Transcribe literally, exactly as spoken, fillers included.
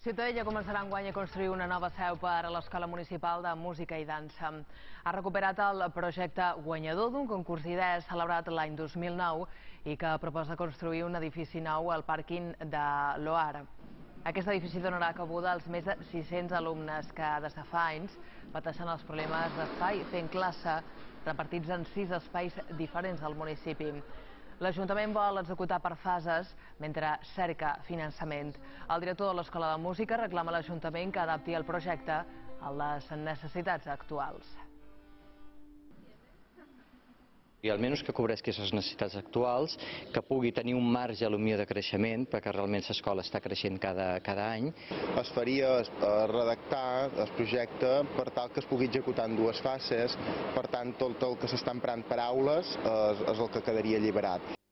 Ciutadella començarà enguany a construir una nova seu per a l'Escola Municipal de Música i Dansa. Ha recuperat el projecte guanyador d'un concurs d'idees celebrat l'any dos mil nou i que proposa construir un edifici nou al pàrquing de l'Oar. Aquest edifici donarà cabuda als més de sis-cents alumnes que des de fa anys pateixen els problemes d'espai fent classe, repartits en sis espais diferents del municipi. L'Ajuntament vol executar per fases mentre cerca finançament. El director de l'Escola de Música reclama a l'Ajuntament que adapti el projecte a les necessitats actuals. I almenys que cobreixi les necessitats actuals, que pugui tenir un marge potser de creixement, perquè realment l'escola està creixent cada, cada any. Es faria redactar el projecte per tal que es pugui executar en dues fases, per tant tot el que s'està emprant paraules és, és el que quedaria alliberat.